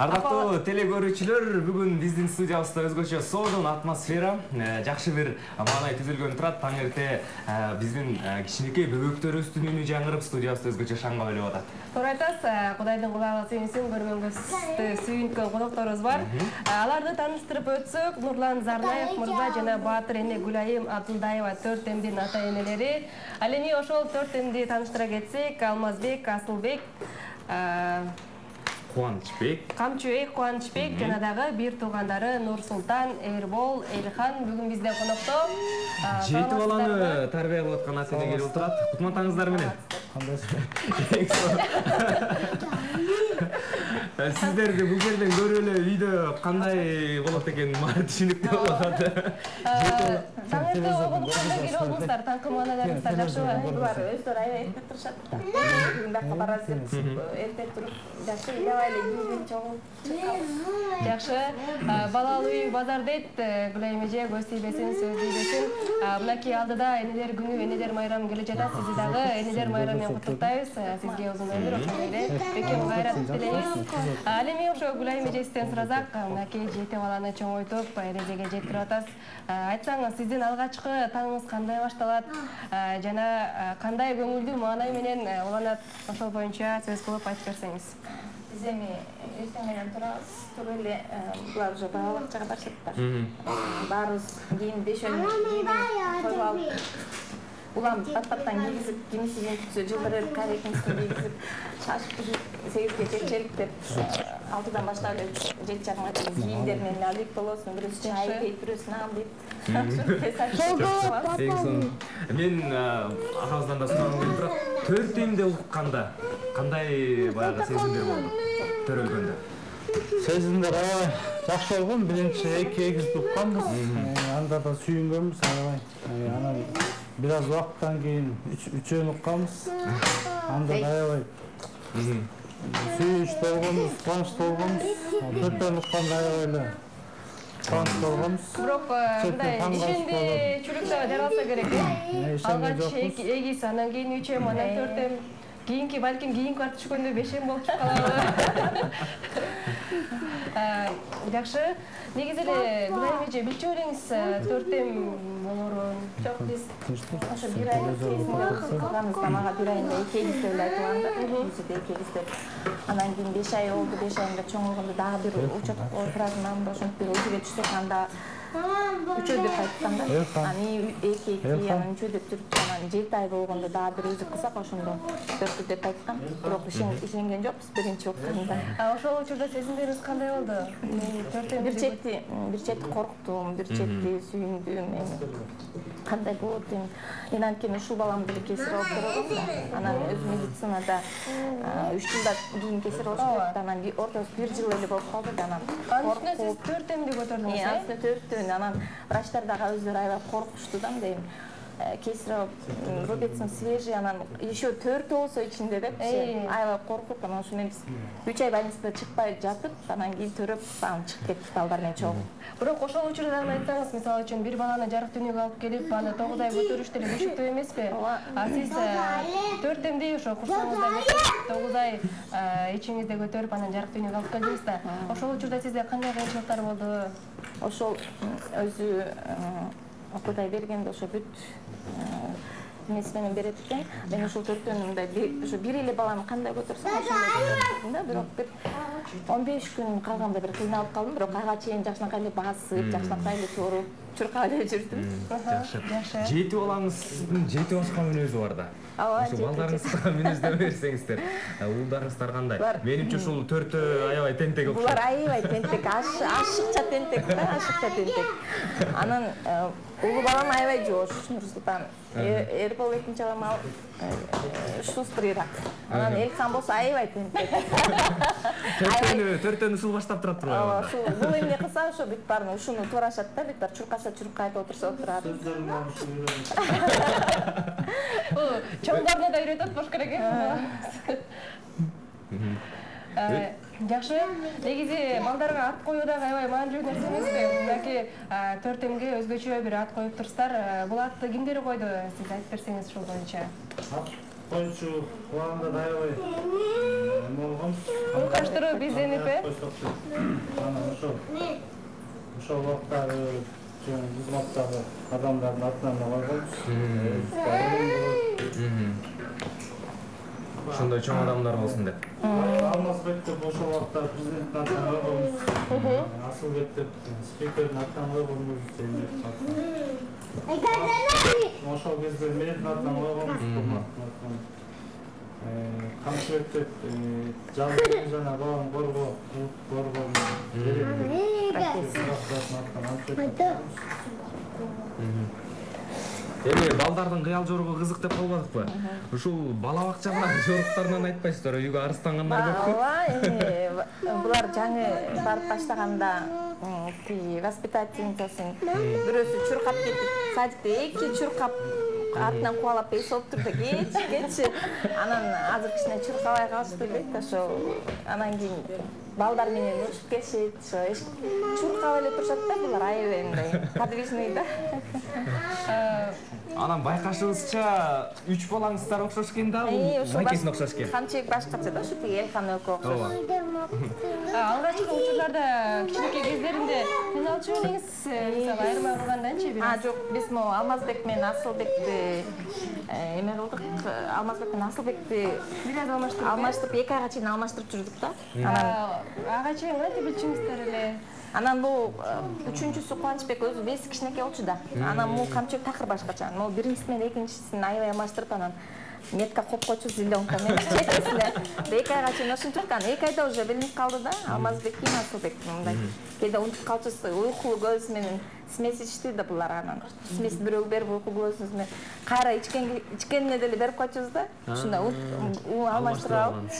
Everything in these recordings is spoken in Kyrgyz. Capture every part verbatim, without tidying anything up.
Ардактуу теле көрүүчүлөр, бүгүн биздин студиябызда өзгөчө сонун атмосфера, жакшы бир маанай түзүлгөн турат. Таң эрте биздин кичинекей бөбөктөрүбүздүн үнү жаңырып, студиябызда өзгөчө шаңга белип атат. Туура айтасыз, Кудайдын кулагы сүйүнсүн, көргөнгө сүйүнткөн конокторубуз бар. Аларды тааныштырып өтсөк, Нурлан Зарнаев мырза жана Баатыр эне Гүлайым Абдулдаева төрт эмдин ата-энелери. Ал эми ошол төрт эмди тааныштыра кетсек, Алмазбек, Асылбек, Кубанычбек, Камчыбек, Кубанычбек жана дагы бир туугандары Нурсултан, Эрбол, Элхан бүгүн бизден конокто. Жети баланы тарбия кылып аткан ата-эне келип отурат. Кутман менен. Сиздерди бул жерден көрүп эле үйдө кандай болот экен мага түшүнүктүү болуп атат. Таң эрте обондукта келип алдыңыздар, таңкы маанайларыңыздар жакшыбы? Булар өздөрү аябай эрте турушат да. Бүгүн бакка барасыз деп эрте туруп, жакшы эле кийген чогуу. Жакшы. Балалуу үй базар дейт, Гүлайым эже, көз тийбесин, сөз тийбесин. Мынакей алдыда энелер күнү, энелер майрамы келе жатат. Сизди дагы энелер майрамы менен куттуктайбыз. Сизге узун өмүр, ошондой эле бекем кайрат тилейбиз. Ал эми ошо Гүлайым эжесизден суразак, мынакей жети баланы чоңойтуп, эрежеге жетирип атасыз. Айтсаңыз, сиздин алгачкы таңыңыз кандай башталат жана кандай көңүлдүү маанай менен уланат? Ошол боюнча сөз кылып айтып берсеңиз. Биз эми эртең менен турабыз, туруп эле булар уже бала бакчага барышат да. Баарыбыз кийин бешөөнү койуп алып, улам бат-баттан кийгизип, кимиси кийин күтсө жылдырып, карекеңизди кийгизип, шашып сегизге чечелик деп алтыдан баштап эле жети жарымга чейин кийимдерин эме алып болосун, бирөөсү чай дейт, бирөөсү нан дейт. Мен агабыздан да сурагым келип турат. Төрт эмди укканда кандай баягы сезимдер болду? Төрөлгөндө. Сезимдер аябай жакшы болгон. Биринчи эки эгизди укканбыз. Анда да сүйүнгөнбүз аябай. Анан бир аз убакыттан кийин үчөөнү укканбыз. Анда да аябай сүйүнүч болгонбуз, кубанычтуу болгонбуз. Төртөөнү укканда аябай эле кубанычтуу болгонбуз. Бирок мындай ишенди чүрүктө жаралса керек э. Алгач эгиз, анан кийин үч эм, анан төрт эм. Кийинки балким кийинки барып түшкөндө беш эм болуп калабы. Жакшы. Негизи эле Гүлайым эже билчү элеңиз төрт эм болорун? Жок, биз ошо бир айлык кезинде кылганыбызда мага бир айында эки эгиз деп айткан да. Бизде эки эгиз деп. Анан кийин беш ай болду, беш айында чоңойгондо дагы бир учет туратын, ошентип бир өзүгө түшсөк анда үчөө деп айткан да. Аны эки эки, анан үчөө деп жүрүп, анан жети ай болгондо дагы бир өзү кылсак, ошондо төрт деп айткан. Бирок ишенген жокпуз биринчи укканда. Ошол учурда сезимдериңиз кандай болду? төрт эм бир чети, бир чети корктум, бир чети сүйүндүм. Кандай болот эми? Мен анткени ушул баламды эле кесип алып көргөм да. Анан өз медицинада үч жылдан кийин кесип алыш керек да. Анан ортосу бир жыл эле болуп калды да. Анан Анын сиз төрт эмди көтөрдүңүз, э? Анын төртөөнү. Анан врачтар дагы өздөрү аябай коркушту да, мындай кесип рубецин свежий, анан еще төртү болсо ичинде депчи, аябай коркуп, анан ошо мен үч ай больницада чыкпай жатып, анан кийин төрөп, анан чыгып кеттик балдар менен чогуу. Бирок ошол учурда дагы айтсаңыз, мисалы үчүн бир баланы жарык дүйнөгө алып келип, аны тогуз ай көтөрүш деле күчүктүү эмеспи? А сиз төрт эмди ошо курсагыңызда көтөрүп, тогуз ай ичиңизде көтөрүп, анан жарык дүйнөгө алып келдиңиз да. Ошол учурда сизде кандай кыйынчылыктар болду? Ошол өзү Кудай бергенде ошо бүт эмеси менен берет экен. Мен ошол төртөөнү мындай ошо бир эле баланы кандай көтөрсөм ошондой көтөрдүм да. Бирок бир он беш күн калганда бир кыйналып калдым, бирок ага чейин жакшынакай эле басып, жакшынакай эле туруп, чуркап эле жүрдүм. Жакшы. Жети балаңыздын жети башка мүнөзү бар да. Ошо балдарыңызга мүнөздөп берсеңиздер. Уулдарыңыздар кандай? Менимче ушул төртөө аябай тентек окшойт. Булар аябай тентек, ашыкча тентек да, ашыкча тентек. Анан улуу балам аябай жоош, Нурсултан. Эрбол экинчи балам ал шустрыйраак. Анан Элхан болсо аябай тентек. Төртөөнү, төртөөнү ушул баштап турат турбайбы? Ошо бул эмне кылса, ошо бүт баарын ушуну туурашат да, бүт бар чуркаса чуркайт, отурса отурат. Чоңдоруна да үйрөтөт болуш керек э. Жакшы. Негизи балдарга ат коюу дагы аябай маанилүү нерсе эмеспи? Мынакей төрт эмге өзгөчө бир ат коюп турсуздар. Бул атты кимдер койду? Сиз айтып берсеңиз ушул боюнча. Коюучу кулагында да аябай эме болгон. Уйкаштырып изденип, э? Анан ошо. Ошол убакта кызматтагы адамдардын атынан койгонбуз. Ошондой чоң адамдар болсун деп. Алмазбек деп ошол убакта президенттин атынан койгонбуз. Асылбек деп спикердин атынан койгонбуз. Ошол кезде менин атынан койгонбуз. Камчыбек деп жалгыз жана баланы коргоо, коргоо Эми балдардын кыял жоругу кызык деп калбадыкпы? Ушул бала бакча менен жоруктарынан айтпайсыздар, үйгө арыстангандар көппү? Ооба, эми булар жаңы барып баштаганда тиги воспитательницасын бирөөсү чуркап кетип, садикте эки чуркап артынан кубалап эсип тур да кетчи, кетчи. Анан азыр кичине чуркабай калышты дейт. Ошо анан кийин балдар менен учуп келишет, ошо чуркап эле турушат да булар, аябай мындай подвижный да. Анан байкашыбызча үч балаңыздар окшош экен да, бул макесине окшош экен. Камчыбек башкача да, ошо тиги Элхан экөө окшош. Алгачкы учурларда кичинекей кездеринде кыйналчу элеңиз, мисалы айырма кылгандачы бир? А, жок, биз могу Алмазбек менен Асылбекти эме кылдык. Алмазбек менен Асылбекти Бир аз алмаштырып, алмаштырып, эки айга чейин алмаштырып жүрдүк да. Ага чейин кантип билчүңүздөр эле? Анан бул үчүнчүсү Кубанычбек өзү веси кичинекей болчу да. Анан могу Камчыбек такыр башкача. Могу биринчиси менен экинчисин аябай алмаштырып, анан метка коюп койчу, зеленка менен четесине. Эки айга чейин ошентип, анан эки айда уже билинип калды да. Алмазбек кийин Асылбек мындай. Кээде унутуп калчусу, уйкулуу көз менен смесь ичти да булар, анан смесь бирөө берип уйкулуу көзүбүз менен кайра ичкен ичкенине деле берип койчубуз да. Ушундай алмаштырып алып.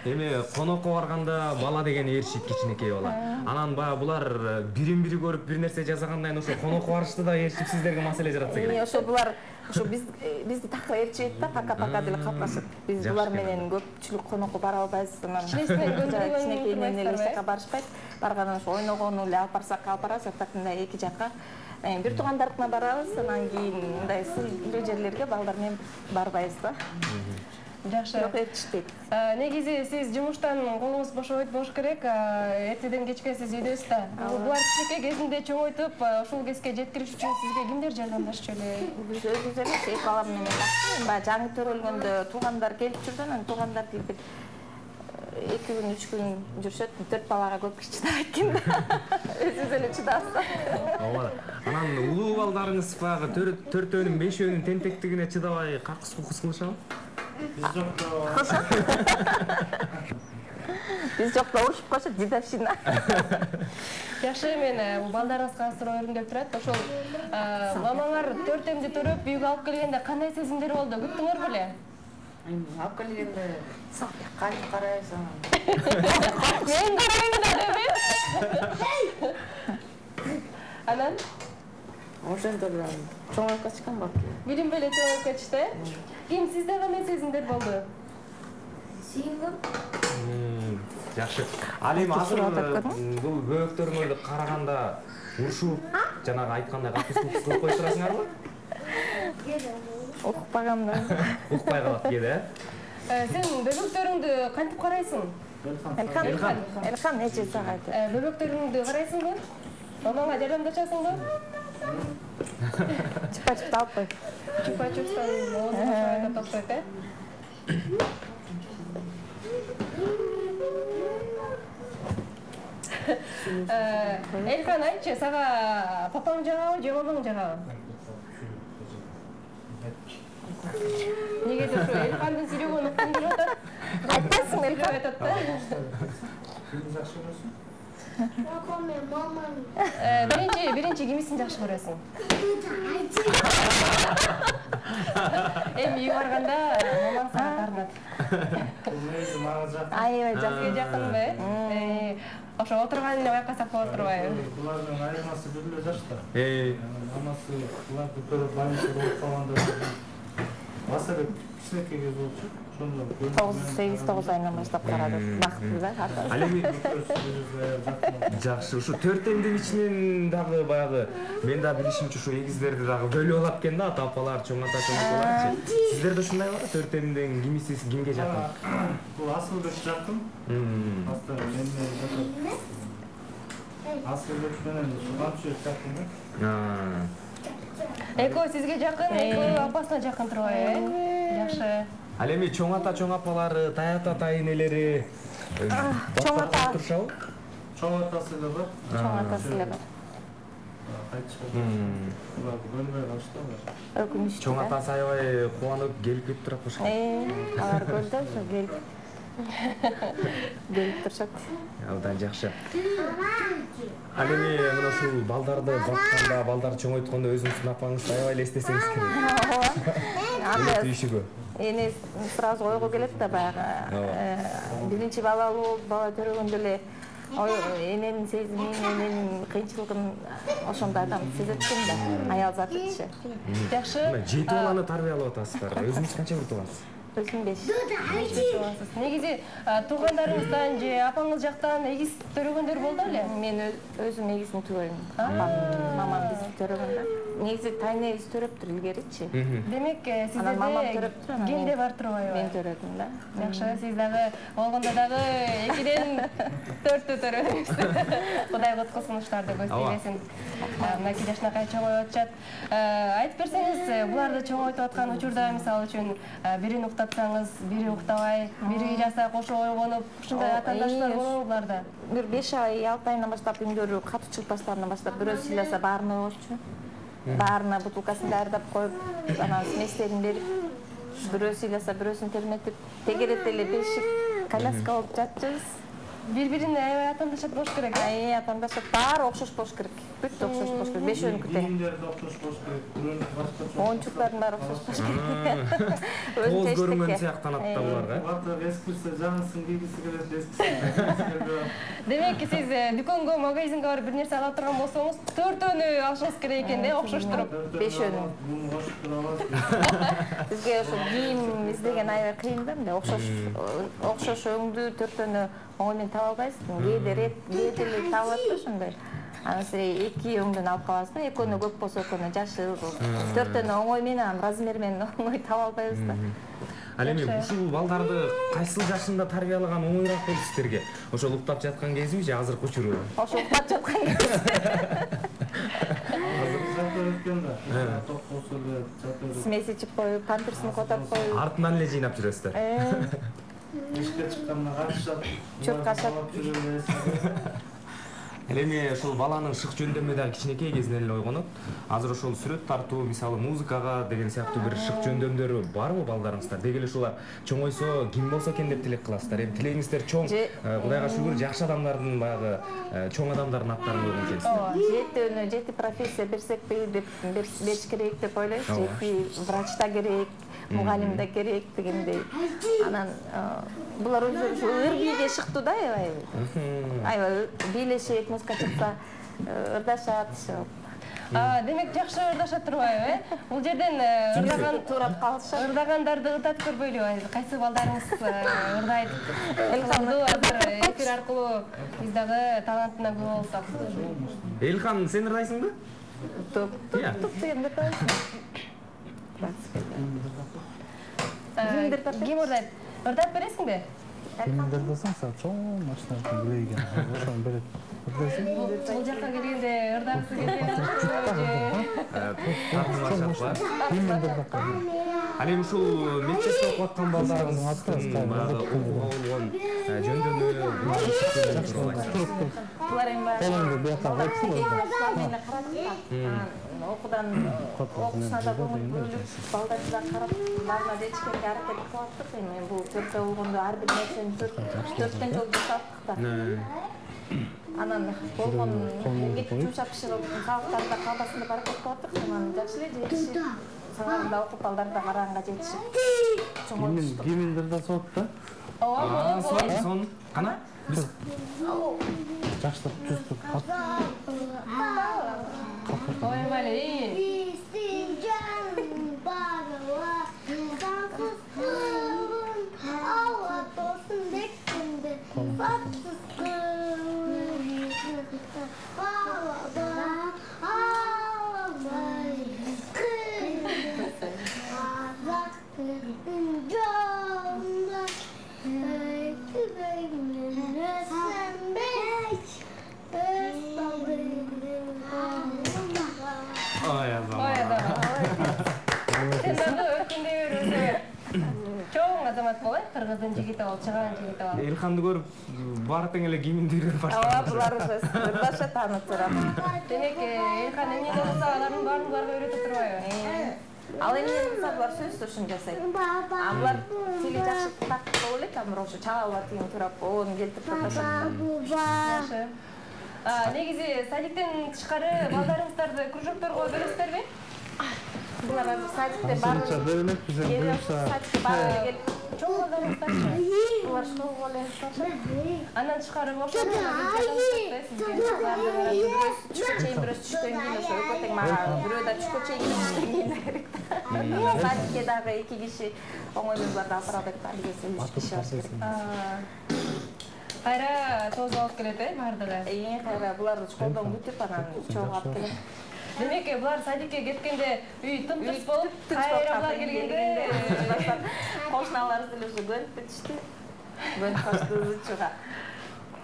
Эми конокко барганда бала деген ээрчийт, кичинекей бала. Анан баягы булар бирин бири көрүп бир нерсе жасагандан ошо конокко барышты да ээрчип сиздерге маселе жаратса керек. Ошо булар ошо биз бизди такыр ээрчийт да, пака-пака деле калпашат. Биз булар менен көпчүлүк конокко бара албайбыз. Анан кичинекейинен эле эч жака барышпайт. Баргандан ошо ойногону эле алып барсак алып барабыз, так мындай эки жака. Бир туугандарына барабыз, анан кийин мындай сыйлуу жерлерге балдар менен барбайбыз да. Жакшы. Жок, ээрчишпейт. Негизи сиз жумуштан колуңуз бошобойт болуш керек. Эртеден кечке сиз үйдөсүз да. Булар кичинекей кезинде чоңойтуп, ушул кезге жеткириш үчүн сизге кимдер жардамдашчу эле? Биз өзүбүз эле эки балам менен баягы жаңы төрөлгөндө туугандар келип жүрдү, анан туугандар келип эки күн, үч күн жүрүшөт, төрт балага көп киши чыдабайт экен да. Өзүбүз эле чыдабыз. Ооба. Анан улуу балдарыңыз баягы төртөөнүн, бешөөнүн тентектигине чыдабай какыс-кукус кылышабы? Биз жокто. Биз жокто урушуп коюшат, дедовщина. Жакшы, мен балдарыңызга суроо өрүндөп турат. Ошол мамаңар төртөңдү төрөп үйгө алып келгенде кандай сезимдер болду? Күттүңөр беле? Алып келгенде кайтып карайсың. Мен карайм да, анан ошентип чоңоюп кетишкен бар. Билим беле чоңоюп кетишти. Ким сизде кандай сезимдер болду? Сүйүнгөм. Жакшы. Ал эми азыр бул бөөктөрүңөрдү караганда урушуп, жанагы айткандай какыс-кукус кылып коюп турасыңарбы? Укпагам да. Укпай калат кээде, э? Сен бөбөктөрүңдү кантип карайсың? Элхан, Элхан нече саат? Бөбөктөрүңдү карайсыңбы? Мамаңа жардамдашасыңбы? Чупа-чупты алып кой. Чупа-чупстан оозуна шайка токшойт, э? Элхан, айтчы, сага папаң жагабы же мамаң жагабы? Негеде ушу Элхандын сүйлөгөнү уккум келип атат. Айтпайсың Элхан айтат да. Кимди жакшы көрөсүң? Папам мен мамам. Биринчи, биринчи кимисин жакшы көрөсүң? Эми үй барганда мамаң сага таарынат. Негизи мага жакын. аябай жакын. Сизге жакынбы, э? Ошо отурган эле байкасак болуп турбайбы? Булардын айырмасы бир эле жашта. Э, Мамасы буларды көрүп больницада болуп калганда Басары кичинекей кез болчу. Ошондо тогуз сегиз тогуз айынан баштап карады. Бактылуу да ата. Ал эми жакшы, ушу төртөмдүн ичинен дагы баягы мен да билишимче ушу эгиздерди дагы бөлүп алат экен да, ата апалар, чоң ата, чоң апаларчы. Сиздерде ушундайбы? Төртөмдүн кимиси кимге жакын? Бул Асылбек жакын. Астар мен менен Асылбек менен Шубанчы жакын да. Экөө сизге жакын, экөө апасына жакын турбайбы, э? Жакшы. Ал эми чоң ата, чоң апалары, тай ата, тай энелери чоң ата турушабы? Чоң атасы да бар. Чоң атасы да бар. Кайтышты. Булар бөлбөй калышты да. Өкүнүчтүү. Чоң атасы аябай кубанып келип кетип турат башка. Э, алар көлдө ошо келип келип турушат. Абдан жакшы. Ал эми мына ушул балдарды бакканда, балдар чоңойткондо өзүңүздүн апаңызды аябай эле эстесеңиз керек. Анда түйүшүгү. эне сразу ойго келет да баягы. Биринчи балалуу болуп, бала төрөгөндө эле ой эненин сезимин, эненин кыйынчылыгын ошондо адам сезет экен да. Аял затычы. Жакшы. Жети баланы тарбиялап атасыздар. Өзүңүз канча бир туугансыз? Өзүм беш. Негизи туугандарыңыздан же апаңыз жактан эгиз төрөгөндөр болду эле? Мен өзүм эгизин төрөйм. Апам, мамам биз төрөгөндө. Негизи тайнегиз төрөптүр илгеричи. Демек, мамам сизде төрөптүр, генде бар турбайбы? Мен төрөдүм да. Жакшы, сиз дагы болгондо дагы экиден төрттү төрөдүңүз. Кудай коткусун уштарды көздөйбесин. Мынакей жашынакай чоңоюп атышат. Айтып берсеңиз, буларды чоңойтуп аткан учурда мисалы үчүн бирин уктатсаңыз, бири уктабай, бири жаса кошо ойгонуп, ушундай атаандаштар болобу буларда? Бир беш ай, алты айынан баштап үндөрү катуу чыгып баштагандан баштап бирөө сыйласа баарына койчу. Баарына бутылкасын даярдап коюп, анан сместерин берип, бирөө сыйласа бирөөсүн терметип, тегерет эле бешик коляска болуп жатчыбыз. Бири-бирине аябай атаандашат болуш керек. Ай, атаандашат, баары окшош болуш керек. Бүт окшош болуш керек. Бешөөнүкү тең. Кийимдерди окшош болуш керек. Бирөөнүкү башкача. Оюнчуктардын баары окшош болуш керек. Кооз көрүнгөн сыяктанат да булар, э? Бата эскисе жаңысын кийгиси келет, эскисе. Демек, сиз дүкөнгө, магазинге барып бир нерсе ала турган болсоңуз, төртөөнү алышыңыз керек экен да, окшош туруп. Бешөөнү. Буну кошуп тура аласыз. Бизге ошо кийим издеген аябай кыйын да, мындай окшош окшош өңдүү төртөөнү оңой менен таба албайсыз. Кээде рет, кээде эле табылат да ошондой. Анан сиз эки өңдөн алып каласыз да, экөөнү көп болсо экөөнү жашыл, төртөөнү оңой менен, размер менен оңой таба албайбыз да. Ал эми ушул балдарды кайсыл жашында тарбиялаган оңоюраак болду сиздерге? Ошол уктап жаткан кезиби же азыркы учуру? Ошо уктап жаткан кез. Азыр жата өткөн да. Ток болсо эле жата өткөн. Смесь ичип коюп, памперсин котоп коюп. Артынан эле жыйнап жүрөсүздөр. Ишке чыкканда катышат. Чөп кашат. Ал эми ошол баланын шык жөндөмү да кичинекей кезинен эле ойгонот. Азыр ошол сүрөт тартуу, мисалы музыкага деген сыяктуу бир шык жөндөмдөрү барбы балдарыңыздар? Деги эле ушулар чоңойсо ким болсо экен деп тилек кыласыздар. Эми тилегиңиздер чоң, Кудайга шүгүр, жакшы адамдардын баягы чоң адамдардын аттарын койгон келсиз. Ооба, жети жети профессия берсекпи деп бериш керек деп ойлойбуз. Жети врач да керек, мугалим да керек дегендей. Анан булар өзү ушу ыр бийге шыктуу да аябай. Аябай бийлешет, музыка чыкса ырдашат. Демек жакшы ырдашат турбайбы, э? Бул жерден ырдаган турап калышат. Ырдагандарды ытатып көрбөйлүбү? Кайсы балдарыңыз ырдайт? Элхан азыр эфир аркылуу биз дагы талантына күбө болсок. Элхан, сен ырдайсыңбы? Топ, топ дегенде ырдайсың. Ким ырдайт? Ырдап бересиңби? Кимдер десең, сен чоң машиналарды билейген. Ошону берет. Бул жакка келгенде ырдагысы келген. Ал эми ушул мектепте окуп аткан балдарыңыздын баягы окууга болгон жөндөмү Булар эми колуңду бияка койсуң. мени карап окуудан окуусуна да көңүл бөлүп, балдарына да карап, баарына да ичкенге аракет кылып аттык. Эми бул төртөө болгондо ар бир нерсени төрттөн жолу жасаттык да. Анан болгон эмгекти жумшап бышырып, сабактарды калбасын деп аракет кылып аттык. Анан жакшы эле жетишип, сыңарында окуп, балдар да караганга жетишип, чоңойтуштук. Кимдер да сот да? Ооба, сон, сон. Кана? Жакшылап түздүк. Ой, мали. Биздин жаным бар. кыздын жигити болуп чыган жигити болуп. Элханды көрүп баары тең эле киминдир баштаган. Ооба, булар уже ырдаша таанып турат. Демек, Элхан эмне болсо алардын баарын буларга үйрөтүп турбайбы? Ал эмне болсо булар сөзсүз ушун жасайт. А булар тили жакшы так болуп элек, а бирок ошо чагалар тиги турап, оон келтирип турушат. Жакшы. Негизи садиктен тышкары балдарыңыздарды кружокторго бөлөсүздарбы? Булар садикте баары берелек бизе буюрса. Садикте баары келип Чоң балдарыңыздарчы? булар школго эле барышат. Андан тышкары бошо чейин бирөөсү түштөн кийин ошо экөө тең мага бирөө да түшкө чейин кийин керек да. Садикке дагы эки киши оңой кыздарды алып барат деп алгесе үч киши бар керек. Кайра тоз алып келет э баардыгы. Эң кайра буларды школдон күтүп анан чогуу алып келет. Демек, булар садикке кеткенде үй тым-тырс болуп, кайра булар келгенде кошуналарыбыз деле ошо көнүп кетишти. Көнүп калышты ызычууга.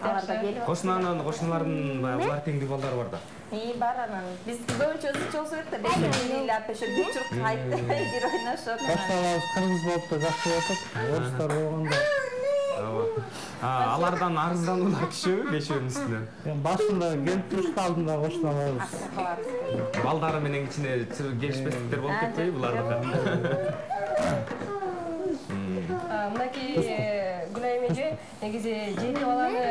Алар да келип. Кошунанын, кошуналардын баягы булар теңдүү балдары бар да. И бар анан биз көбүнчө ызычуу болсо керек да, бешек лили апа ошо күчүп кайтты, бир ойношот. Кошуналарыбыз кыргыз болуп да жакшы болуп, орустар болгондо Алардан арыздануулар түшөбү бешөөнүн үстүнөн? Башында келип турушта алдында кошуналарыбыз. Балдары менен кичине келишпестиктер болуп кетпейби булардыкы? Мынакей Гүлайым эже негизи жети баланы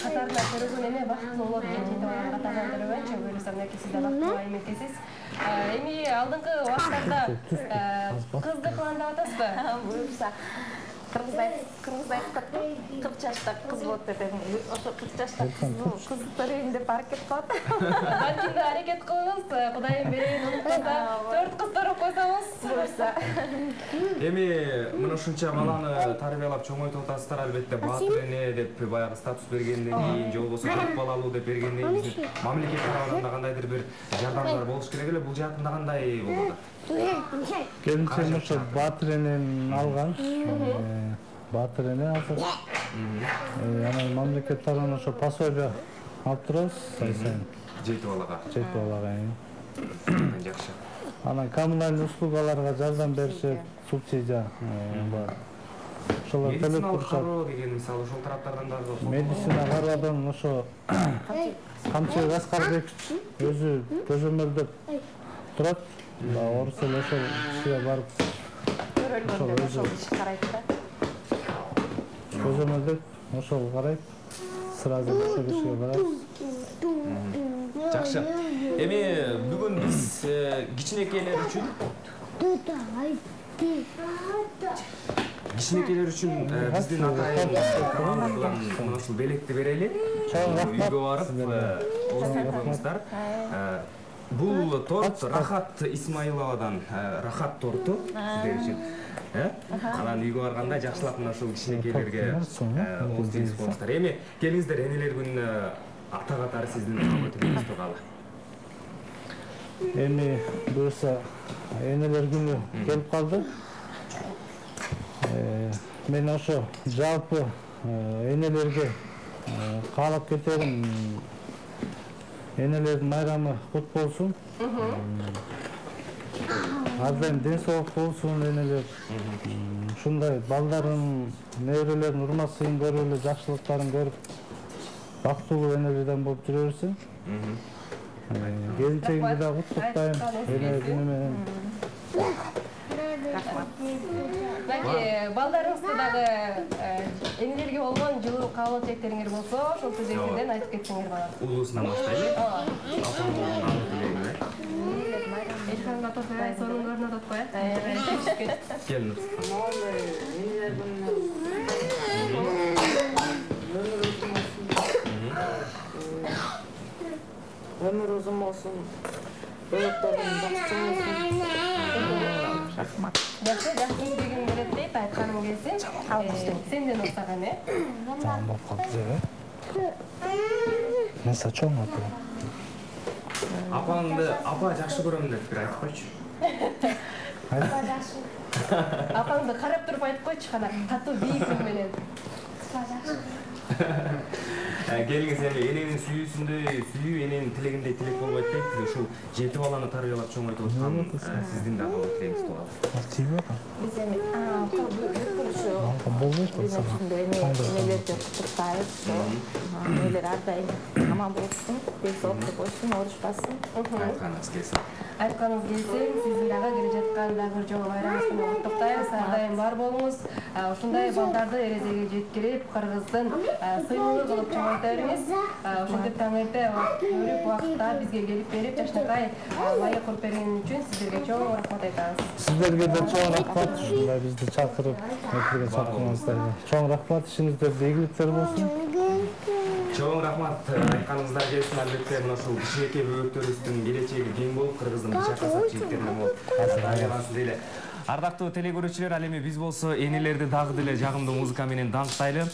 катарына көргөн эме бактылуу болот экен, жети баланы катарынан көргөнчө, буюрса мынакей сиз да бактылуу айым экенсиз. Эми алдыңкы убакыттарда кызды пландап атасызбы? Буюрса Кыргыздай кыргыздай кырк жашта кыз болот деп эми ошо кырк жашта кыз төрөйүн деп аракет кылат. Балким да аракет кылыңыз, Кудайым берейин унутпаса, төрт кыз төрөп койсоңуз буюрса. Эми мына ушунча баланы тарбиялап чоңойтуп атасыздар, албетте баатыр эне деп баягы статус бергенден кийин, же болбосо төрт балалуу деп бергенден кийин мамлекет тарабынан да кандайдыр бир жардамдар болуш керек эле. Бул жаатында кандай болду? Келинчегим ошо баатыр энени алган. Баатыр эне азыр. Анан мамлекет тарабынан ошо пособие алып турабыз ай сайын. Жети балага. Жети балага. Жакшы. Анан коммунальный услугаларга жардам беришет, субсидия бар. Ошолор төлөп турушат. Кароо деген мисалы ошол тараптардан дагы Медицина кароодон ошо Камчыбек Аскарбекович өзү көзөмөлдөп турат. Орус эле ошол кишиге барып Көрөлгөндө ошол киши карайт да. Көзөмөлдөп ошол карайт. Сразу ошол кишиге барабыз. Жакшы. Эми бүгүн биз кичинекейлер үчүн кичинекейлер үчүн биздин атайын ушул белекти берели. Үйгө барып оозун коюңуздар. Бул торт Рахат Исмаиловадан Рахат торту сиздер үчүн. Анан үйгө барганда жакшылап мына ушул кичинекейлерге ооз тийгизип коюңуздар. Эми келиңиздер, энелер күнүнө ата катары сиздин көтөрүңүз тургалы. Эми буюрса энелер күнү келип калды. Мен ошо жалпы энелерге каалап кетерим. Энелердин майрамы кут болсун. Ар дайым ден соолук болсун энелер. Ушундай балдарын, неберелерин урмат-сыйын көрүп эле, жакшылыктарын көрүп, бактылуу энелерден болуп жүрө берсин. Келинчегимди да куттуктайм эне күнү менен. Балки балдарыңызды дагы энелерге болгон жылуу каалоо тилектериңер болсо, ошол тизектерден айтып кетсеңер болот. Улуусунан баштайлы. Элханга тотпой, сонун көрүнүп атпай. Келиңиз. Өмүр узун болсун. Бөлөктөрүн жакшы болсун. Рахмат. Жакшы, жакшы дегим келет дейт, айтканым келсин. Сенден устаган, э? Жаман болуп калды же. Мен сачоң атып. Апаңды апа жакшы көрөм деп бир айтып койчу. Апаңды карап туруп айтып койчу, кана катуу бийик үн менен. келиңиз эми эненин сүйүүсүндөй сүйүү эненин тилегиндей тилек болбойт дейт. Ушул жети баланы тарбиялап чоңойтуп аткан сиздин да кандай тилегиңиз болот? тийби? Биз эми ушу болбойт энелерди куттуктайбыз. Энелер ар дайым аман болушун, ден соолукта болушун, оорушпасын. Айтканыңыз келсин. Айтканыңыз келсин, сиздин дагы келе жаткан дагы бир жолу байрамыңыз менен куттуктайбыз. Ар дайым бар болуңуз. Ушундай балдарды эрежеге жеткирип, Кыргыздын сыйлыгы кылып чоңойто бериңиз. Ошентип таң эрте көрүп, убакытта бизге келип берип, жашнакай майы куруп бергени үчүн сиздерге чоң рахмат айтабыз. Сиздерге да чоң рахмат. Ушундай бизди чакырып, эфирге чакырганыңыздарга чоң рахмат. Ишиңиздерде ийгиликтер болсун. Чоң рахмат. Айтканыңыздар келсин, албетте мына ушул кичинекей бөбөктөрүбүздүн келечеги кең болуп, Кыргыздын башка касап жигиттерине болуп айлансын дейли. Ардактуу телекөрүүчүлөр, ал эми биз болсо энелерди дагы деле жагымдуу музыка менен даңктайлы.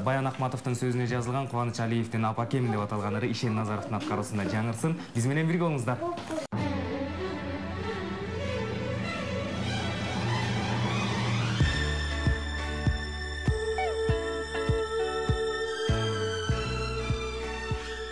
Баян Акматовдун сөзүнө жазылган Кубаныч Алиевдин Апакем деп аталган ыры Ишен Назаровдун аткаруусунда жаңырсын. Биз менен бирге болуңуздар.